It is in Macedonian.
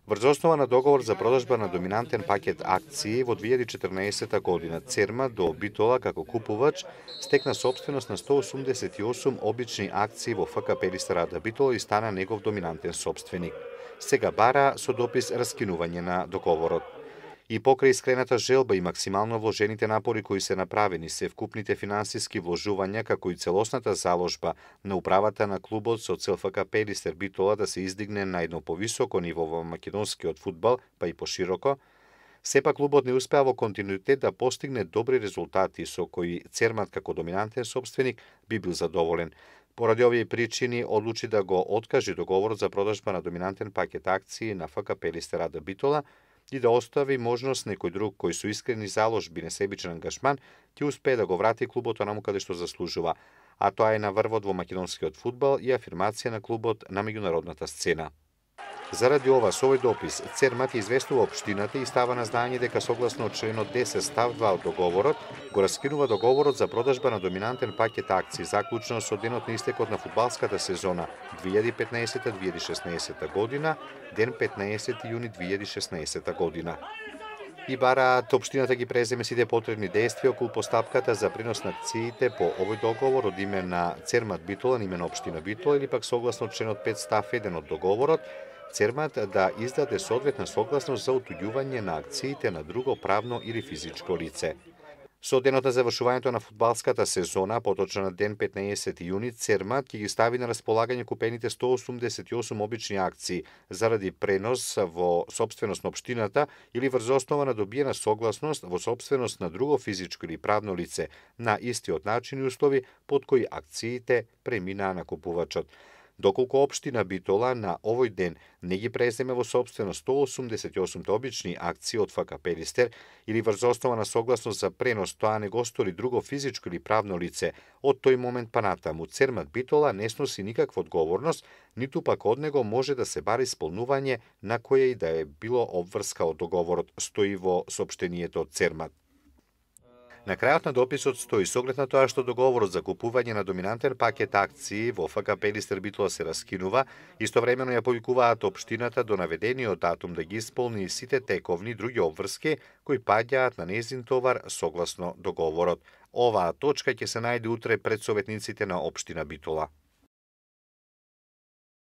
Врз основа на договор за продажба на доминантен пакет акции во 2014 година, Цермат до Битола како купувач стекна собственост на 188 обични акции во ФК Пелистер АД Битола и стана негов доминантен собственик. Сега бара со допис раскинување на договорот. И покрај искрената желба и максимално вложените напори кои се направени се вкупните финансиски вложувања како и целосната заложба на управата на клубот со цел ФК Пелистер Битола да се издигне на едно повисоко ниво во македонскиот фудбал, па и пошироко, сепак клубот не успеа во континуитет да постигне добри резултати со кои Цермат како доминантен собственик би бил задоволен. Поради овие причини одлучи да го откаже договорот за продажба на доминантен пакет акции на ФК Пелистер АД Битола и да остави можност некој друг кој со искрени заложби, несебичен ангажман, ќе успее да го врати клубот онаму каде што заслужува, а тоа е на врвот во македонскиот фудбал и афирмација на клубот на меѓународната сцена. Заради ова, со овој допис, Цермат известува општината и става на знаење дека согласно членот 10 став 2 од договорот, го раскинува договорот за продажба на доминантен пакет акции заклучено со денот на истекот на фудбалската сезона 2015-2016 година, ден 15 јуни 2016 година. И бараат општината ги преземе сите потребни действија околу постапката за принос на акциите по овој договор од име на Цермат Битола на име на општина Битола или пак согласно членот 5 став 1 од договорот, Цермат да издаде соодветна согласност за отуѓување на акциите на друго правно или физичко лице. Со денот на завршувањето на фудбалската сезона, поточно на ден 15 јуни, Цермат ќе ги стави на располагање купените 188 обични акции заради пренос во собственост на општината или врз основа на добиена согласност во собственост на друго физичко или правно лице на истиот начин и услови под кои акциите преминаа на купувачот. Доколку општина Битола на овој ден не ги преземе во собственост 188 обични акции од ФК Пелистер или врз основа на согласност за пренос тоа не го стори друго физичко или правно лице, од тој момент па натаму Цермат Битола не сноси никаква одговорност, ниту пак од него може да се бари исполнување на која и да е било обврска од договорот, стои во соопштението од Цермат. На крајот на дописот стои соглед на тоа што договорот за купување на доминантен пакет акции во ФК Пелистер Битола се раскинува, истовремено ја повикуваат општината до наведениот датум да ги исполни сите тековни други обврски кои паѓаат на нејзин товар согласно договорот. Оваа точка ќе се најде утре пред советниците на општина Битола.